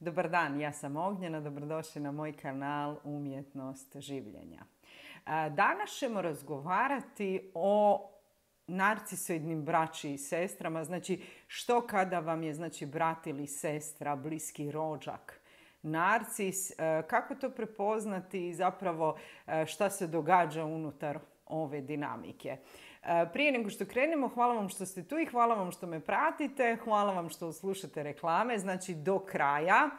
Dobar dan, ja sam Ognjena, dobrodošli na moj kanal Umjetnost življenja. Danas ćemo razgovarati o narcisoidnim braći i sestrama, znači što kada vam je brat ili sestra, bliski rođak narcis, kako to prepoznati i zapravo šta se događa unutar ove dinamike. Prije nego što krenemo, hvala vam što ste tu i hvala vam što me pratite, hvala vam što slušate reklame, znači do kraja.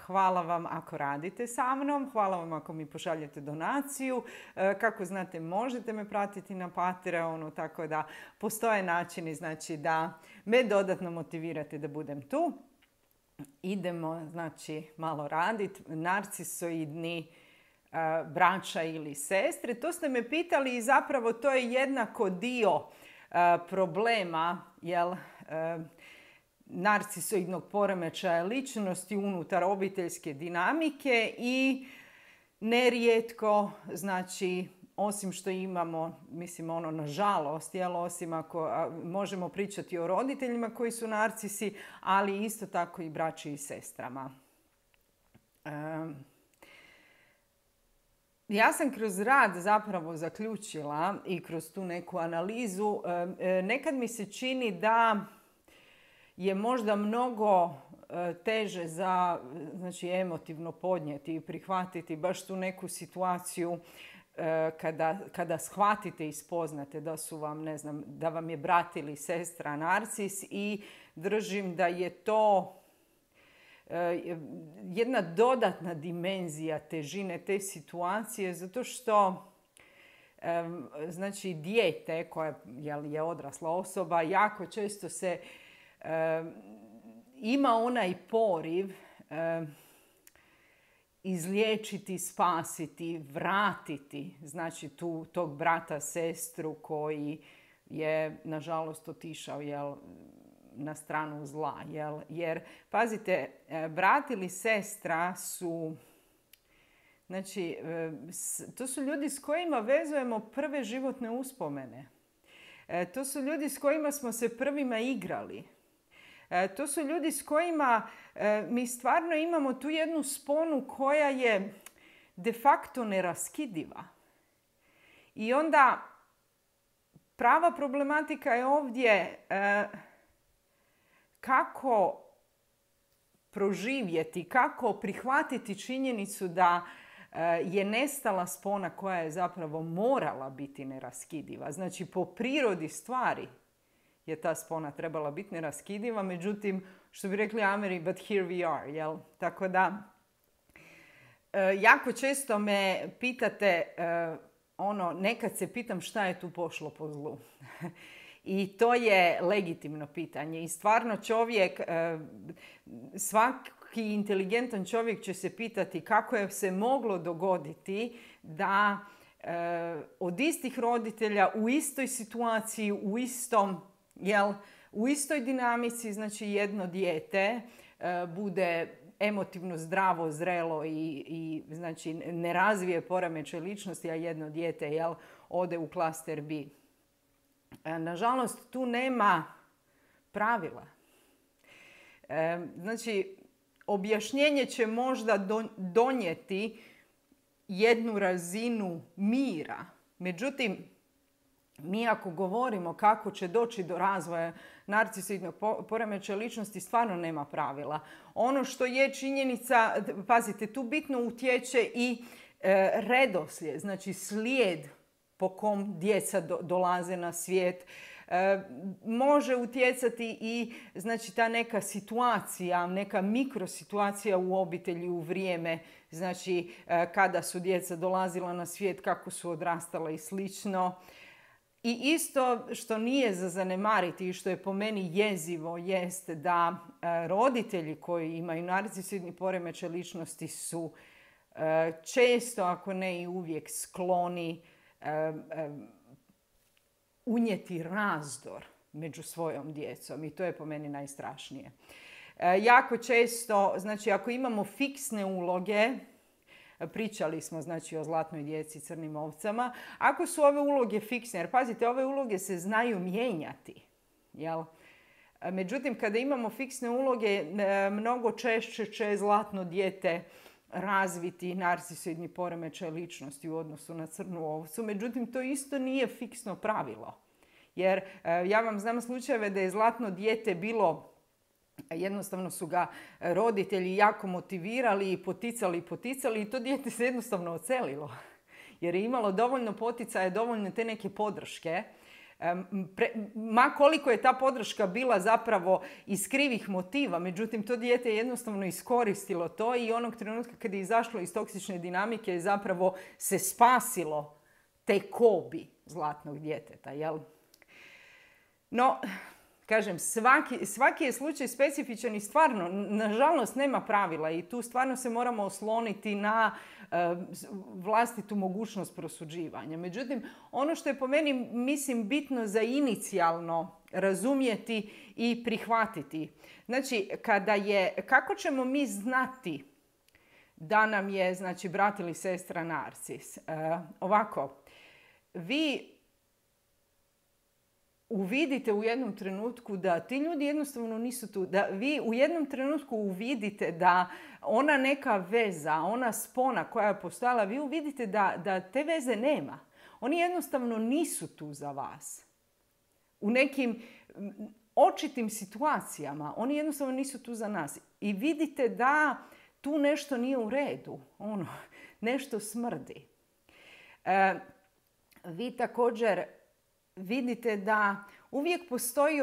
Hvala vam ako radite sa mnom, hvala vam ako mi pošaljete donaciju. Kako znate, možete me pratiti na Patreonu, tako da postoje načini znači, da me dodatno motivirate da budem tu. Idemo znači malo raditi. Narcisoidni braća ili sestre. To ste me pitali i zapravo to je jednako dio problema narcisoidnog poremećaja ličnosti unutar obiteljske dinamike i nerijetko, znači, osim što imamo, mislim nažalost, osim ako možemo pričati o roditeljima koji su narcisi, ali isto tako i braći i sestrama. Ja sam kroz rad zapravo zaključila i kroz tu neku analizu, nekad mi se čini da je možda mnogo teže za emotivno podnijeti i prihvatiti baš tu neku situaciju kada shvatite i spoznate da su vam, da vam je brat ili sestra narcis i držim da je to jedna dodatna dimenzija težine te situacije, zato što znači dijete koje je odrasla osoba jako često se ima onaj poriv izliječiti, spasiti, vratiti znači tog brata, sestru koji je nažalost otišao na stranu zla. Jer, pazite, brat ili sestra su, znači, to su ljudi s kojima vezujemo prve životne uspomene. To su ljudi s kojima smo se prvima igrali. To su ljudi s kojima mi stvarno imamo tu jednu sponu koja je de facto neraskidiva. I onda prava problematika je ovdje kako proživjeti, kako prihvatiti činjenicu da je nestala spona koja je zapravo morala biti neraskidiva. Znači, po prirodi stvari je ta spona trebala biti neraskidiva, međutim, što bi rekli Ameri, but here we are, jel? Tako da, jako često me pitate, nekad se pitam šta je tu pošlo po zlu. I to je legitimno pitanje. I stvarno čovjek, svaki inteligentan čovjek će se pitati kako je se moglo dogoditi da od istih roditelja u istoj situaciji, u istoj dinamici, znači jedno dijete bude emotivno zdravo, zrelo i znači ne razvije poremećaj ličnosti, a jedno dijete ode u klaster B. Nažalost, tu nema pravila. Znači, objašnjenje će možda donijeti jednu razinu mira. Međutim, mi ako govorimo kako će doći do razvoja narcisoidnog poremećaja ličnosti, stvarno nema pravila. Ono što je činjenica, pazite, tu bitno utječe i redoslijed, znači slijed po kom djeca dolaze na svijet. Može utjecati i znači ta neka situacija, neka mikrosituacija u obitelji u vrijeme, znači kada su djeca dolazila na svijet, kako su odrastala i slično. I isto što nije za zanemariti i što je po meni jezivo jeste da roditelji koji imaju narcisoidni poremećaj ličnosti su često, ako ne i uvijek, skloni unijeti razdor među svojom djecom i to je po meni najstrašnije. Jako često, znači ako imamo fiksne uloge, pričali smo znači o zlatnoj djeci i crnim ovcama, ako su ove uloge fiksne, jer pazite, ove uloge se znaju mijenjati, jel? Međutim, kada imamo fiksne uloge, mnogo češće će zlatno dijete razviti narcisoidni poremećaj ličnosti u odnosu na crnu ovcu. Međutim, to isto nije fiksno pravilo. Jer ja vam znam slučajeve da je zlatno dijete bilo, jednostavno su ga roditelji jako motivirali i poticali i to dijete se jednostavno ocelilo. Jer je imalo dovoljno poticaja, dovoljno te neke podrške. Ma koliko je ta podrška bila zapravo iz krivih motiva, međutim to dijete je jednostavno iskoristilo to i onog trenutka kad je izašlo iz toksične dinamike je zapravo se spasilo te kobi zlatnog djeteta, jel? No, kažem, svaki je slučaj specifičan i stvarno, nažalost, nema pravila i tu stvarno se moramo osloniti na vlastitu mogućnost prosuđivanja. Međutim, ono što je po meni, mislim, bitno za inicijalno razumjeti i prihvatiti. Znači, kako ćemo mi znati da nam je, znači, brat ili sestra narcis? Ovako, vi uvidite u jednom trenutku da ti ljudi jednostavno nisu tu. Da vi u jednom trenutku uvidite da ona neka veza, ona spona koja je postojala, vi uvidite da te veze nema. Oni jednostavno nisu tu za vas. U nekim očitim situacijama oni jednostavno nisu tu za nas. I vidite da tu nešto nije u redu. Nešto smrdi. Vi također vidite da uvijek postoji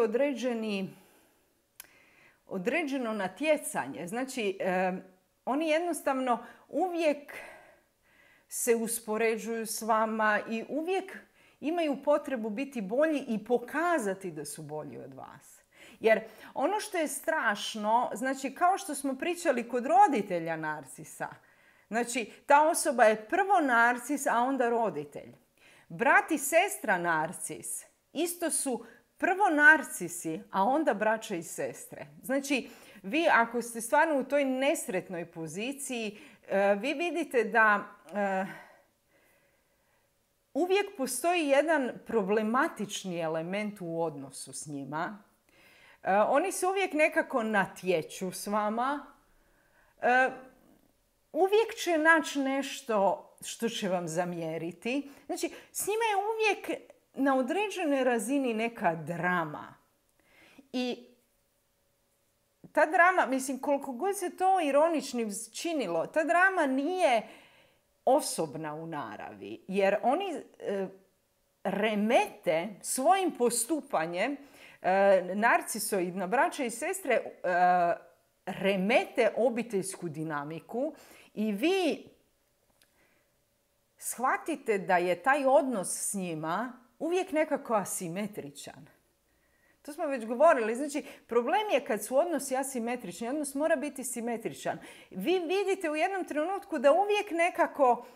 određeno natjecanje. Znači, oni jednostavno uvijek se uspoređuju s vama i uvijek imaju potrebu biti bolji i pokazati da su bolji od vas. Jer ono što je strašno, znači kao što smo pričali kod roditelja narcisa, znači ta osoba je prvo narcis, a onda roditelj. Brat i sestra narcis isto su prvo narcisi, a onda braća i sestre. Znači, vi ako ste stvarno u toj nesretnoj poziciji, vi vidite da uvijek postoji jedan problematični element u odnosu s njima. Oni se uvijek nekako natječu s vama. Uvijek će naći nešto što će vam zamjeriti. Znači, s njima je uvijek na određenoj razini neka drama. I ta drama, mislim, koliko god se to ironičnim činilo, ta drama nije osobna u naravi. Jer oni remete svojim postupanjem, narcisoidna braća i sestre remete obiteljsku dinamiku i vi shvatite da je taj odnos s njima uvijek nekako asimetričan. To smo već govorili. Znači, problem je kad su odnosi asimetrični. Odnos mora biti simetričan. Vi vidite u jednom trenutku da uvijek nekako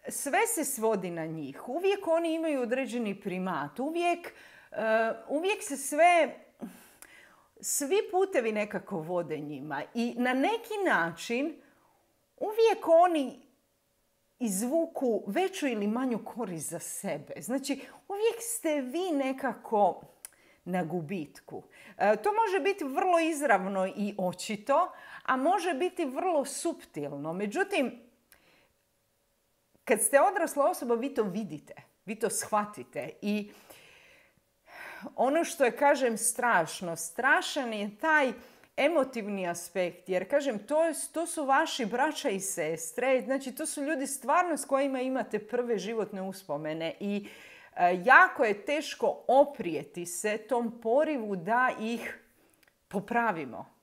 sve se svodi na njih. Uvijek oni imaju određeni primat. Uvijek se svi putevi nekako vode njima. I na neki način uvijek oni izvuku veću ili manju korist za sebe. Znači, uvijek ste vi nekako na gubitku. To može biti vrlo izravno i očito, a može biti vrlo suptilno. Međutim, kad ste odrasla osoba, vi to vidite. Vi to shvatite. I ono što je, kažem, strašan je taj emotivni aspekt. Jer, kažem, to su vaši braća i sestre. Znači, to su ljudi stvarno s kojima imate prve životne uspomene. I jako je teško oprijeti se tom porivu da ih popravimo.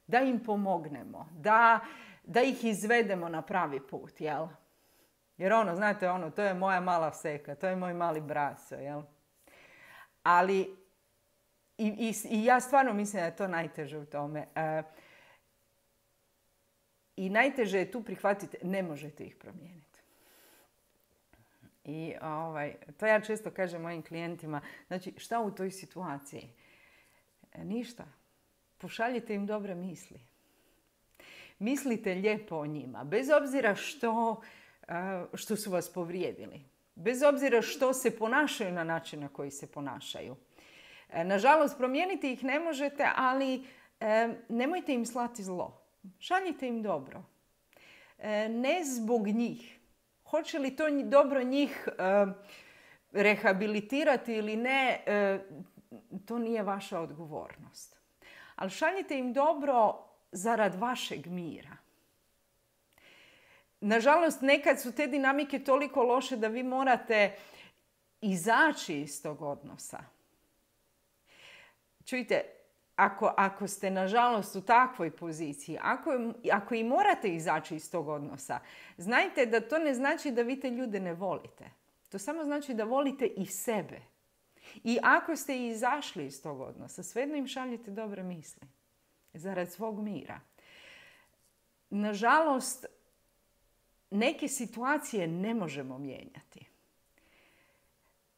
Da im pomognemo. Da ih izvedemo na pravi put, jel? Jer znate, to je moja mala seka. To je moj mali braco, jel? Ali i ja stvarno mislim da je to najteže u tome. I najteže je tu prihvatiti, ne možete ih promijeniti. I to ja često kažem mojim klijentima. Znači, šta u toj situaciji? Ništa. Pošaljite im dobre misli. Mislite lijepo o njima. Bez obzira što su vas povrijedili. Bez obzira što se ponašaju na način na koji se ponašaju. Nažalost, promijeniti ih ne možete, ali nemojte im slati zlo. Šaljite im dobro. Ne zbog njih. Hoće li to dobro njih rehabilitirati ili ne, to nije vaša odgovornost. Ali šaljite im dobro zarad vašeg mira. Nažalost, nekad su te dinamike toliko loše da vi morate izaći iz tog odnosa. Čujte, ako ste nažalost u takvoj poziciji, ako i morate izaći iz tog odnosa, znajte da to ne znači da vi te ljude ne volite. To samo znači da volite i sebe. I ako ste izašli iz tog odnosa, svejedno im šaljite dobre misli. Zarad svog mira. Nažalost, neke situacije ne možemo mijenjati.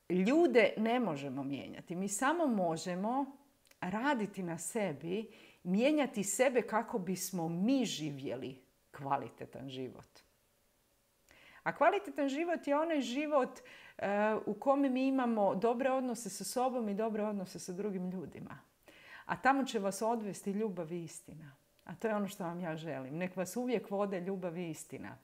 Ljude ne možemo mijenjati. Mi samo možemo raditi na sebi, mijenjati sebe kako bismo mi živjeli kvalitetan život. A kvalitetan život je onaj život u kome mi imamo dobre odnose sa sobom i dobre odnose sa drugim ljudima. A tamo će vas odvesti ljubav i istina. A to je ono što vam ja želim. Nek vas uvijek vode ljubav i istina.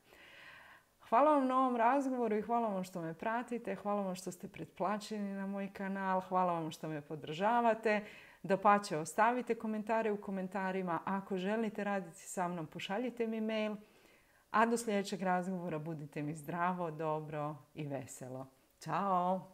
Hvala vam na ovom razgovoru i hvala vam što me pratite. Hvala vam što ste pretplaćeni na moj kanal. Hvala vam što me podržavate. Dapače, ostavite komentare u komentarima. Ako želite raditi sa mnom, pošaljite mi mail. A do sljedećeg razgovora budite mi zdravo, dobro i veselo. Ćao!